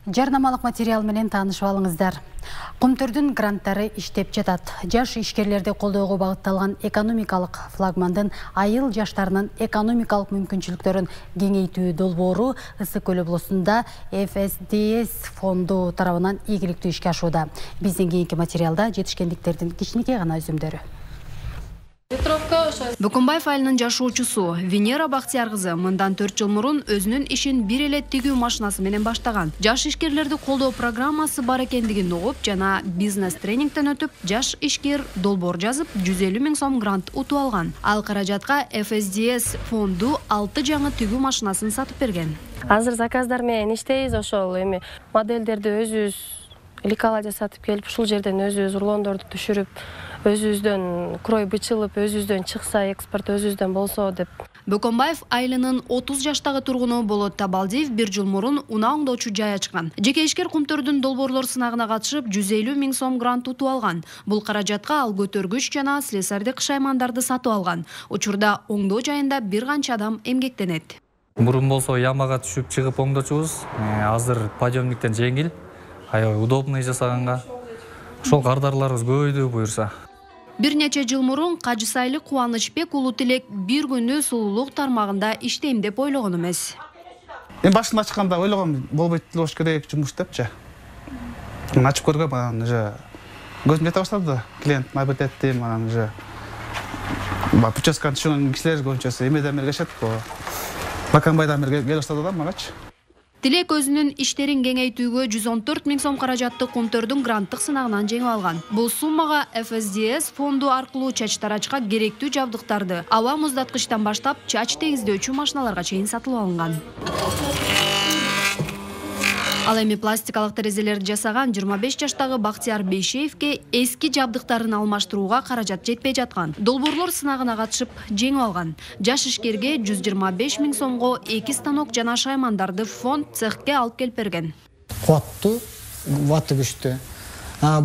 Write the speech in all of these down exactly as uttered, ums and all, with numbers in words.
Жарнамалык материал менен таанышып алыңыздар. Кумтөрдүн гранттары иштеп жатат. Жаш ишкерлерди колдоого багытталган экономикалык флагмандын айыл жаштарынын экономикалык мүмкүнчүлүктөрүн кеңейтүү долбоору Ысык Көл облусунда эф эс ди эс фонду тарабынан ийгиликтүү ишке ашууда. Биздин кийинки материалда жетишкендиктердин кичинекей гана өзүмдөрү. Бөкөнбаев айылынын жашоочусу Венера Бактияр кызы мындан төрт жыл мурун өзүнүн ишин бир эле тигүү машинасы менен баштаган. Жаш ишкерлерди колдоо программасы бар экендигин угуп жана бизнес тренингден өтүп, жаш ишкер долбоор жазып, жүз элүү миң сом грант утуп алган. Ал каражатка эф эс ди эс фонду алты жаңы тигүү машинасын сатып берген. Азыр заказдар менен иштейбиз, ошол эми модельдерди өзүбүз ликала жасатып келип, ушул жерден өзүбүз рулондорду түшүрүп, өзүбүздөн крой бычылып, өзүбүздөн чыкса, экспорт өзүбүздөн болсо деп. Бөкөнбаев айылынын отуз жаштагы тургуну Болот Табалдиев бир жыл мурун унаа оңдоочу жай ачкан. Жеке ишкер Кумтөрдүн долбоорлор сынагына катышып, жүз элүү миң сом грант утуп алган. Бул каражатка ал көтөргүч жана слесардык шаймандарды сатып алган. Учурда оңдоо жайында бир канча адам эмгектенет. Мурун болсо ямага түшүп чыгып оңдочубуз. Азыр подъемниктен жеңил, аябай удобный жасаганга. Ошол кардарларыбыз көбөйдү буюрса. Бир нече жыл мурун Кажысайлык Кубанычбек улуу Тилек бир күнү сулуулук тармагында иштейм деп ойлогон эмес. Эми башында ачканда ойлогом болбойт болуш керек жумуш депчи. Ачып көргөм, анан уже көзүм жете баштады. Клиент мабит этти, анан уже прическаны түшүнгөн кишилер көбүнчөсү эмеден бери келишет го. Баканбайдан бери келип баштады да магачы. Тилек өзүнүн иштерин кеңейтүүгө жүз он төрт миң сом каражатты Кумтөрдүн гранттык сынагынан жеңип алган. Бул суммага эф эс ди эс фонду аркылуу чач тарачка керектүү жабдыктарды, аба муздаткычтан баштап чач тегиздөөчү машиналарга чейин сатылып алынган. Ал эми пластикалык терезелерди жасаган жыйырма беш жаштагы Бактияр Бейшеевке эски жабдыктарын алмаштырууга каражат жетпей жаткан. Долбоорлор сынагына катышып жеңип алган. Жаш ишкерге жүз жыйырма беш миң сомго эки станок жана шаймандарды фонд цехке алып келип берген. Куаттуу, ваты күчтүү.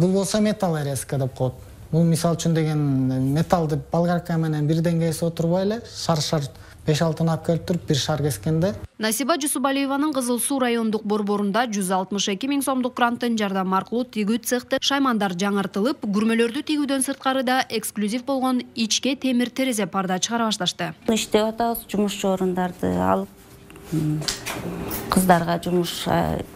Бул болсо металл резка деп коет. Бул мисал үчүн деген металлды болгарка менен бирден кесип отурбай эле шар-шар беш алты алып келип туруп бир шар кескенде. Насиба Жусубалиеванын Кызыл Суу райондук борборунда жүз алтымыш эки миң сомдук гранттын жардамы аркылуу тигүү цехте шаймандар жаңыртылып, күрмөлөрдү тигүүдөн сырткары да эксклюзив болгон ичке темир терезе парда чыгара башташты. Иштеп атабыз, жумушчу орундарды алып, кыздарга жумуш,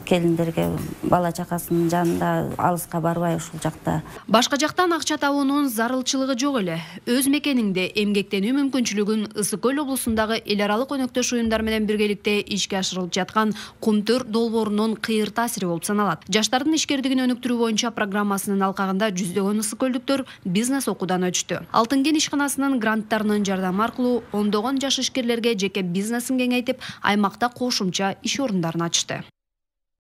келиндерге бала чакасынын жанында алыска барбай ушул жакта. Башка жактан акча табуунун зарылчылыгы жок эле. Өз мекениңде эмгектенүү мүмкүнчүлүгүн Ысык Көл облусундагы эл аралык өнөктөш уюмдар менен биргеликте ишке ашырылып жаткан Кумтөр долбоорунун кыйыр таасири болуп саналат. Жаштардын ишкердигин өнүктүрүү боюнча программасынын алкагында жүздөгөн ысык көлдүктөр бизнес окуудан өтүштү. Алтын кен ишканасынын гранттарынын жардамы аркылуу ондогон жаш ишкерлерге жеке бизнесин кеңейтип, аймакта кошумча иш орундарын ачты.